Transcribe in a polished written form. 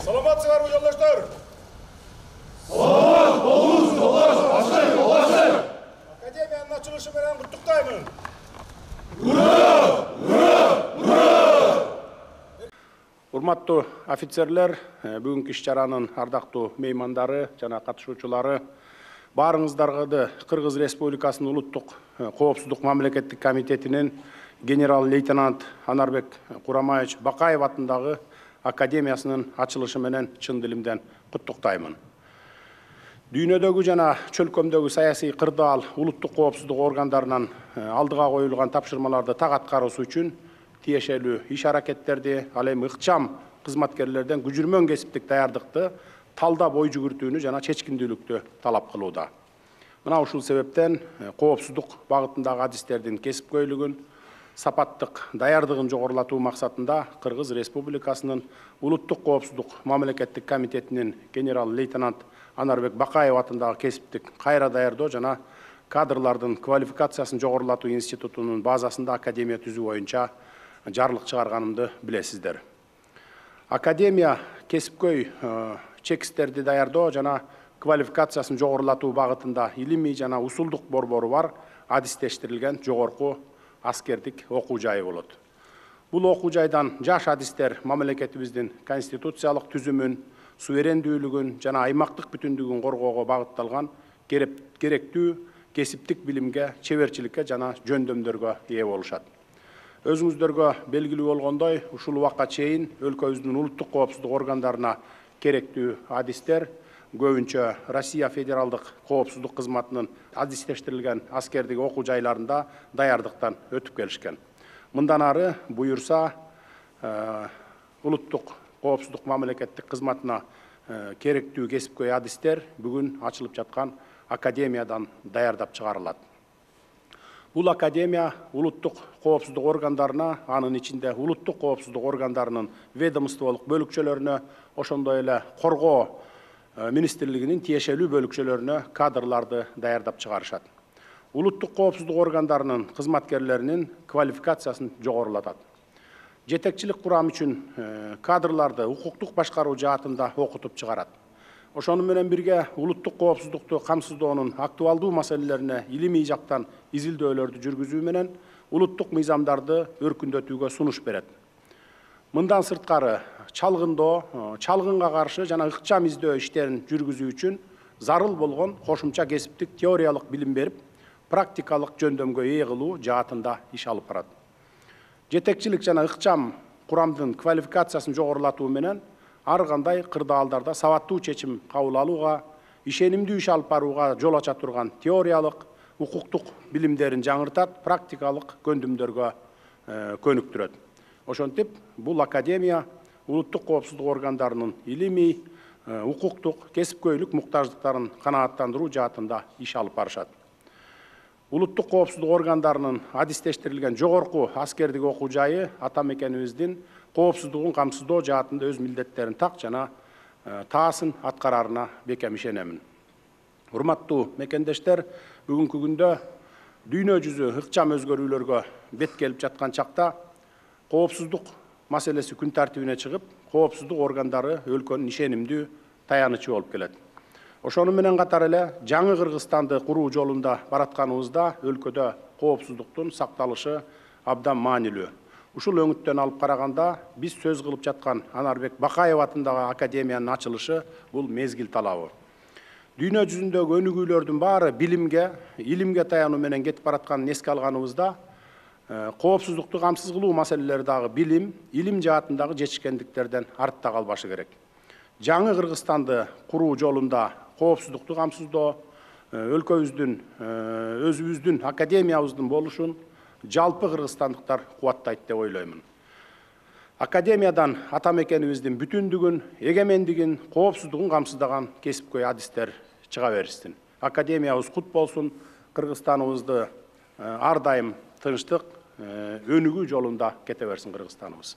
Саламатсыздарбы жолдоштор? Саламат болуңуз, жолдош. Академиянын ачылышы менен куттуктаймын. Урматтуу офицерлер, бүгүнкү иш-чаранын ардактуу меймандары жана катышуучулары, баарыңыздарга Кыргыз Республикасынын улуттук коопсуздук мамлекеттик комитетинин генерал-лейтенант Анарбек Курамаевич Бакаев атындагы академиясынын ачылышы менен чын дилимден куттуктаймын. Дүйнөдөгү жана чөлкөмдөгү саясий кырдаал улуттук коопсуздук органдарынан алдыга коюлган тапшырмаларды так аткаруусу үчүн тиешелүү иш-аракеттерди, ал эми ыкчам кызматкерлерден күжүрмөн кесиптик даярдыкты талдап ой жүгүртүүнү жана чечкиндүүлүктү талап кылууда. Мына ушул себептен коопсуздук багытындагы адистердин кесипкөйлүгүн, сапаттык даярдыгын жогорулатуу максатында Кыргыз Республикасынын улуттук коопсуздук мамлекеттик комитетинин генерал-лейтенант Анарбек Бакаев атындагы кесиптик кайра даярдоо жана кадрлардын квалификациясын жогорулатуу институтунун базасында академия түзүү боюнча жарлык чыгарганымды билесиздер. Академия кесипкөй чекистерди даярдоо жана квалификациясын жогорулатуу багытында илимий жана усулдук борбору бар адистештирилген жогорку аскердик окуу жайы болот. Бул окуу жайдан жаш адистер мамлекетибиздин конституциялык түзүмүн, суверендүүлүгүн жана аймактык бүтүндүгүн коргоого багытталган керектүү кесиптик билимге, чеберчиликке жана жөндөмдөргө ээ болушат. Өзүңүздөргө белгилүү болгондой, ушул убакка чейин өлкөбүздүн улуттук коопсуздук органдарына керектүү адистер көбүнчө Россия Федералдык коопсуздук кызматынын адистештирилген аскердик окуу жайларында даярдыктан өтүп келишкен. Мындан ары буюрса улуттук коопсуздук мамлекеттик кызматына керектүү кесипкөй адистер бүгүн ачылып жаткан академиядан даярдап чыгарылат. Бул академия улуттук коопсуздук органдарына, анын ичинде улуттук коопсуздук органдарынын ведомстволук бөлүкчөлөрүнө, ошондой эле коргоо министрлигинин тиешелүү бөлүкчөлөрүнө кадрларды даярдап чыгарышат. Улуттук коопсуздук органдарынын кызматкерлеринин квалификациясын жогорулатат. Жетекчилик курам үчүн кадрларды укуктук башкаруу жаатында окутуп чыгарат. Ошону менен бирге улуттук коопсуздукту камсыздоонун актуалдуу маселелерине илимий жактан изилдөөлөрдү жүргүзүү менен улуттук мыйзамдарды өркүндөтүүгө сунуш берет. Мындан сырткары чалгындоо, чалгынга каршы жана ыкчам издөө иштерин жүргүзүү үчүн зарыл болгон кошумча кесиптик теориялык билим берип, практикалык жөндөмгө ээ кылуу жаатында иш алып барат. Жетекчилик жана ыкчам курамдын квалификациясын жогорулатуу менен ар кандай кырдаалдарда сабаттуу чечим кабыл алууга, ишенимдүү иш алып барууга жол ача турган теориялык, укуктук билимдерин жаңыртат, практикалык көндүмдөргө көнүктүрөт. Ошентип, бул академия улуттук коопсуздук органдарынын илимий, укуктук, кесипкөйлүк муктаждыктарын канааттандыруу жаатында иш алып барышат. Улуттук коопсуздук органдарынын адистештирилген жогорку аскердик окуу жайы ата мекенибиздин коопсуздугун камсыздоо жаатында өз милдеттерин так жана таасын аткарарына бекем ишенемин. Урматтуу мекендештер, бүгүнкү күндө дүйнө жүзү ыкчам өзгөрүүлөргө бет келип жаткан чакта коопсуздук маселеси күн тартибине чыгып, коопсуздук органдары өлкөнүн ишенимдүү таянычы болуп келет. Ошону менен катар эле жаңы Кыргызстанды куруу жолунда баратканыбызда өлкөдө коопсуздуктун сакталышы абдан маанилүү. Ушул өңүттөн алып караганда биз сөз кылып жаткан Анарбек Бакаев атындагы академиянын ачылышы бул мезгил талабы. Дүйнө жүзүндөгү өнүгүүлөрдүн баары билимге, илимге таянуу менен кетип баратканын эске алганыбызда коопсуздукту камсыз кылуу маселелери дагы билим, илим жаатындагы жетишкендиктерден артта калбашы керек. Жаңы Кыргызстанды куруу жолунда коопсуздукту камсыздоо, өлкөбүздүн, өзүбүздүн академиябыздын болушун жалпы кыргызстандыктар кубаттайт деп ойлоймун. Академиядан ата мекенибиздин бүтүндүгүн, эгемендигин, коопсуздугун камсыздаган кесипкөй адистер чыга берсин. Академиябыз кут болсун, Кыргызстаныбызды ар дайым тынчтык, өнүгүү жолунда кете берсин Кыргызстаныбыз.